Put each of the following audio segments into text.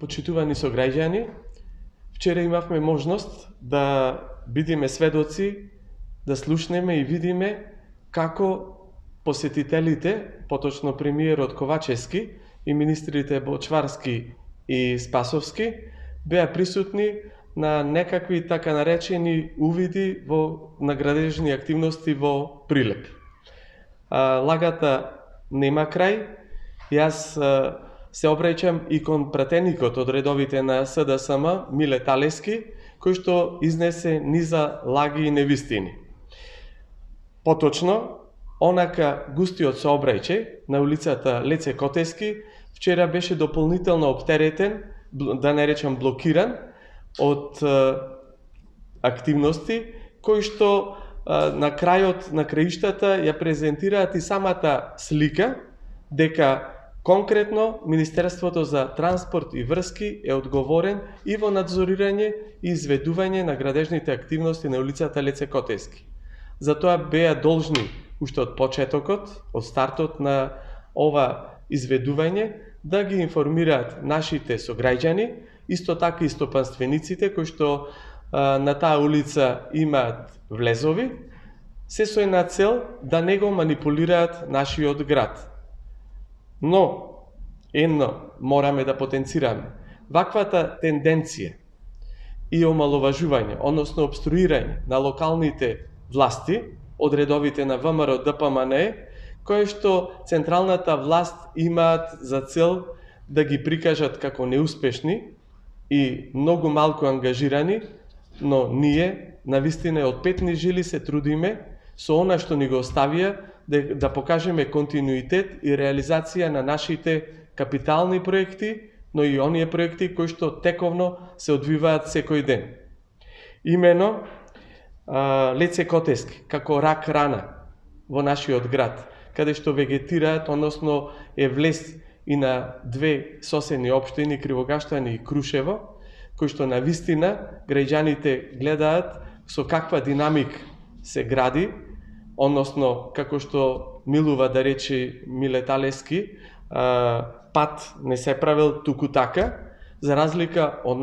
почитувани сограѓани, вчера имавме можност да бидиме сведоци, да слушнеме и видиме како посетителите, поточно премиерот Ковачевски и министрите Бочварски и Спасовски, беа присутни на некакви така наречени увиди во наградежни активности во Прилеп. Лагата нема крај. Јас се обраќам и кон пратеникот од редовите на СДСМ, Миле Талески, кој што изнесе низа лаги и невистини. Поточно, онака густиот сообраќај на улицата Леце Котески вчера беше дополнително оптеретен, да не речам блокиран, од активности кои што на крајот на краиштата ја презентираат и самата слика дека конкретно Министерството за транспорт и врски е одговорен и во надзорирање и изведување на градежните активности на улицата Леце Котески. Затоа беа должни уште од почетокот, од стартот на ова изведување, да ги информираат нашите сограѓани, исто така и стопанствениците кои што на таа улица имаат влезови, се со една цел да не го манипулираат нашиот град. Но, едно мораме да потенцираме. Ваквата тенденција и омаловажување, односно обструирање на локалните власти од редовите на ВМРО ДПМНЕ, кои што централната власт имаат за цел да ги прикажат како неуспешни и многу малку ангажирани, но ние, навистина од петни жили се трудиме со она што ни го оставија да покажеме континуитет и реализација на нашите капитални проекти, но и оние проекти кои што тековно се одвиваат секој ден. Имено, Леце Котески, како рак рана во нашиот град, каде што вегетираат, односно е влез и на две соседни општини, Кривогаштани и Крушево, кои што на вистина граѓаните гледаат со каква динамик се гради, односно како што милува да рече Миле Талески, пат не се правил туку така, за разлика од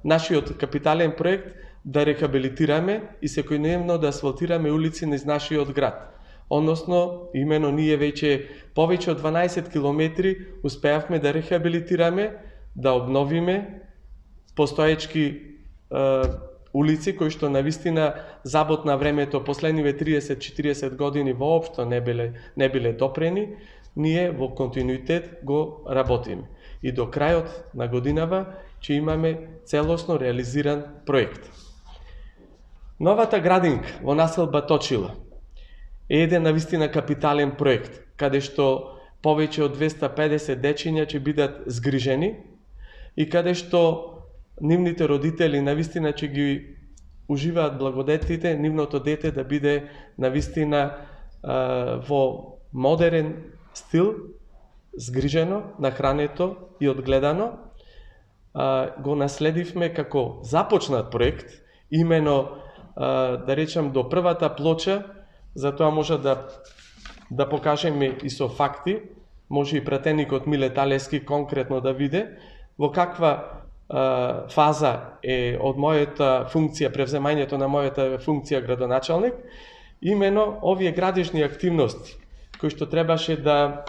нашиот капитален проект да рехабилитираме и секојдневно да асфалтираме улици низ нашиот град. Односно, имено ние веќе повеќе од 12 километри успеавме да рехабилитираме, да обновиме постоечки улици кои што навистина забот на времето последниве 30-40 години воопшто не биле допрени, ние во континуитет го работиме. И до крајот на годинава ќе имаме целосно реализиран проект. Новата градинка во населба Точила е еден навистина капитален проект, каде што повеќе од 250 дечиња ќе бидат згрижени и каде што нивните родители навистина ќе ги уживаат благодетите, нивното дете да биде навистина во модерен стил, згрижено, нахрането и одгледано. Го наследивме како започнат проект, имено да речам до првата плоча, затоа може да покажеме и со факти, може и пратеникот Миле Талески конкретно да види во каква фаза е од мојата функција, превземањето на мојата функција градоначалник, имено овие градежни активности, кои што требаше да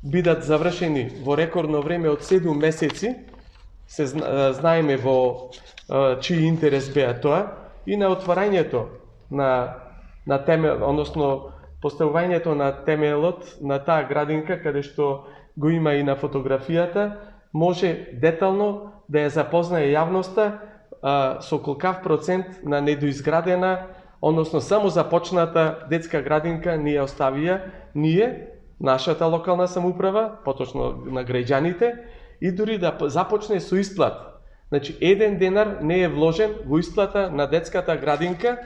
бидат завршени во рекордно време од 7 месеци, се знаеме во чиј интерес беа тоа, и на отварањето на темел, односно поставувањето на темелот на таа градинка, каде што го има и на фотографијата, може детално да ја запознае јавноста со колкав процент на недоизградена, односно само започната детска градинка ни ја оставија ние, нашата локална самоуправа, поточно на граѓаните, и дури да започне со исплата. Значи, 1 денар не е вложен во исплата на детската градинка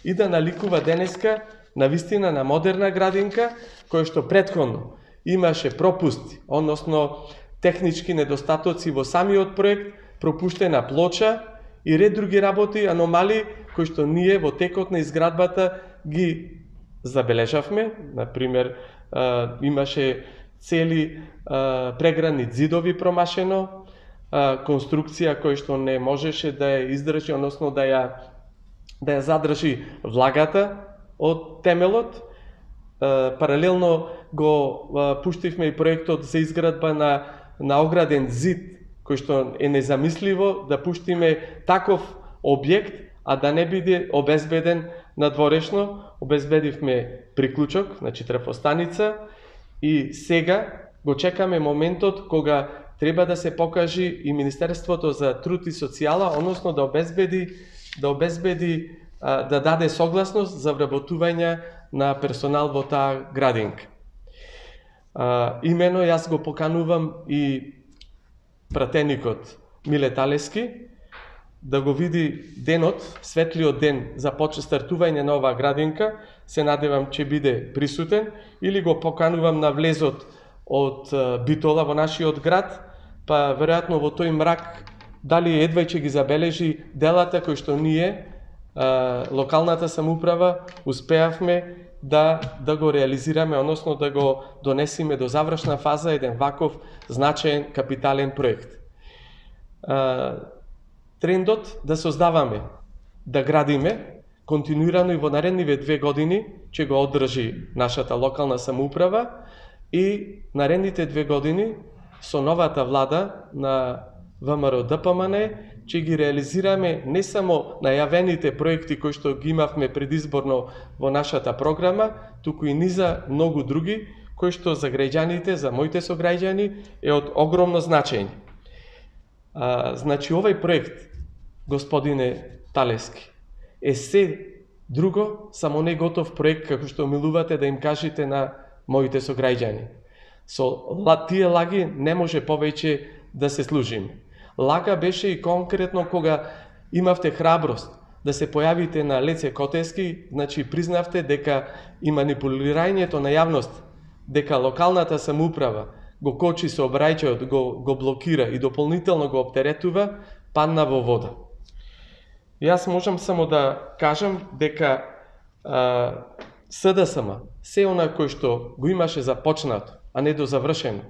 и да наликува денеска навистина на модерна градинка, која што претходно имаше пропусти, односно технички недостатоци во самиот проект, пропуштена плоча и ред други работи, аномалии, кои што ние во текот на изградбата ги забележавме. Например, имаше цели преградни ѕидови промашено, конструкција која што не можеше да ја издржи, односно да ја задржи влагата од темелот. Паралелно го пуштивме и проектот за изградба на ограден зид, кој што е незамисливо да пуштиме таков објект, а да не биде обезбеден надворешно. Обезбедивме приклучок, значи трафостаница, и сега го чекаме моментот кога треба да се покажи и Министерството за труд и социјала, односно да даде согласност за вработување на персонал во таа градинка. Имено јас го поканувам и пратеникот Миле Талески да го види денот, светлиот ден за стартување на оваа градинка. Се надевам ќе биде присутен, или го поканувам на влезот од Битола во нашиот град, па веројатно во тој мрак дали едва ќе ги забележи делата кои што ние, локалната самоуправа, успеавме да го реализираме, односно да го донесеме до завршна фаза еден ваков значаен капитален проект. Трендот да создаваме, да градиме континуирано и во наредниве 2 години ќе го одржи нашата локална самоуправа, и наредните 2 години со новата влада на ВМРО ДПМН ќе ги реализираме не само најавените проекти кои што ги имавме предизборно во нашата програма, туку и низа многу други кои што за граѓаните, за моите сограѓани е од огромно значење. Значи овој проект, господине Талески, е се друго, само не готов проект, како што милувате да им кажете на моите сограѓани. Со тие лаги не може повеќе да се служиме. Лага беше и конкретно кога имавте храброст да се појавите на Леце Котески, значи признавте дека и манипулирањето на јавност, дека локалната самоуправа го кочи сообраќајот, го блокира и дополнително го оптеретува, падна во вода. Јас можам само да кажам дека СДСМ, се она кој што го имаше започнато, а не дозавршено,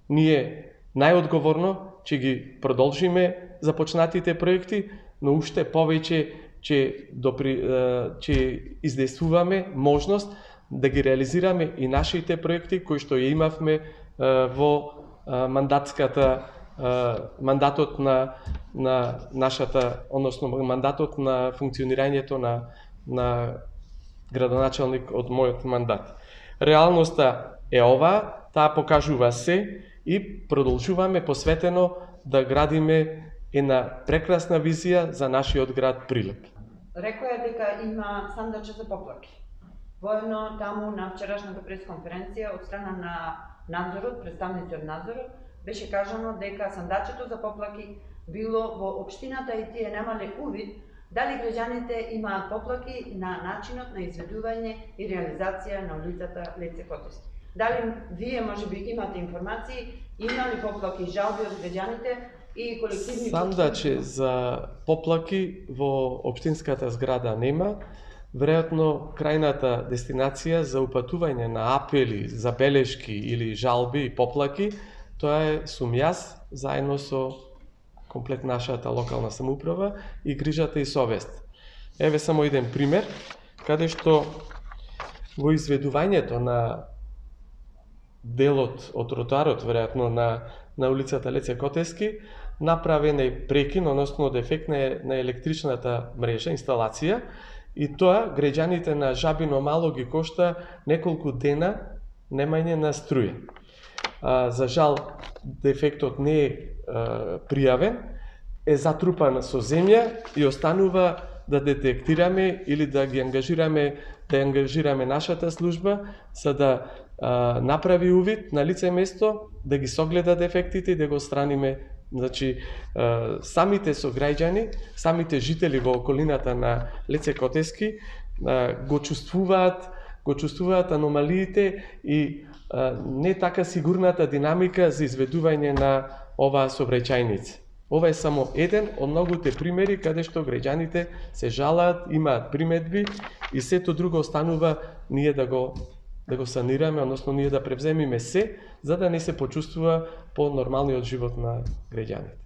ние најодговорно ќе ги продолжиме започнатите проекти, но уште повеќе ќе издействуваме можност да ги реализираме и нашите проекти кои што ја имавме во мандатот на нашата, односно мандатот на функционирањето на градоначалник од мојот мандат. Реалноста е ова, таа покажува се, и продолжуваме посветено да градиме една прекрасна визија за нашиот град Прилеп. Рекоја дека има сандаче за поплаки. Воедно таму на вчерашната пресконференција од страна на надзорот, представници од надзорот, беше кажано дека сандачето за поплаки било во општината и тие немале увид дали граѓаните имаат поплаки на начинот на изведување и реализација на улицата Леце Котески. Дали вие можеби имате информации, има ли поплаки и жалби од граѓаните и колективни... Сандаче за поплаки во општинската зграда нема. Веројатно крајната дестинација за упатување на апели, забелешки или жалби и поплаки, тоа сум јас заедно со комплет нашата локална самоуправа и грижата и совест. Еве само еден пример, каде што во изведувањето на делот од тротоарот, веројатно на улицата Леце Котески, направен е прекин, односно дефект на електричната мрежа, инсталација, и тоа граѓаните на Жабино Мало ги кошта неколку дена немање на струја. За жал, дефектот не е пријавен, е затрупан со земја и останува да детектираме или да ги ангажираме нашата служба за да направи увид на лице место, да ги согледа дефектите и да го отстраниме. Значи, самите сограѓани, самите жители во околината на Леце Котески го чувствуваат аномалиите и не така сигурната динамика за изведување на оваа сообраќајница. Ова е само еден од многуте примери каде што граѓаните се жалаат, имаат приметби и сето друго останува ние да го санираме, односно ние да превземиме се, за да не се почувствува по нормалниот живот на граѓаните.